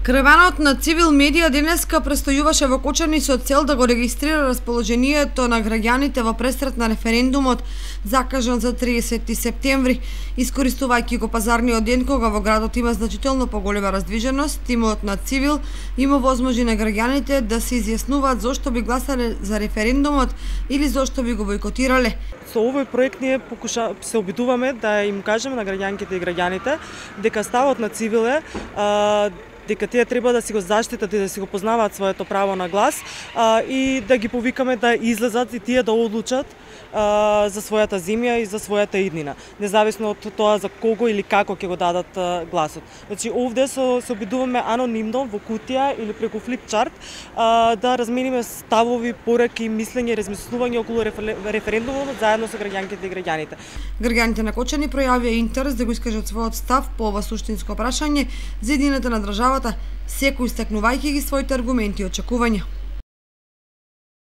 Караванот на Цивил Медија денеска престојуваше во Кочани со цел да го регистрира расположението на граѓаните во пресрет на референдумот закажан за 30 септември. Искористувајќи го пазарниот ден кога во градот има значително поголема раздвиженост, тимот на Цивил има возможи на граѓаните да се изјаснуваат зошто би гласале за референдумот или зошто би го бойкотирале. Со овој проект ние се обидуваме да им кажеме на граѓанките и граѓаните дека ставот на Цивил е дека тие треба да си го заштитат и да си го познаваат своето право на глас и да ги повикаме да излезат и тие да одлучат за својата земја и за својата иднина, независно од тоа за кого или како ќе го дадат гласот. Значи овде се обидуваме анонимно во кутија или преку флипчарт да размениме ставови, пораки, мислење, размислување околу референдумот заедно со граѓанките и граѓаните. Граѓаните на Кочани пројавија интерес да го искажат својот став по ова суштинско прашање за иднината на државата, секој истакнувајќи ги своите аргументи и очекувања.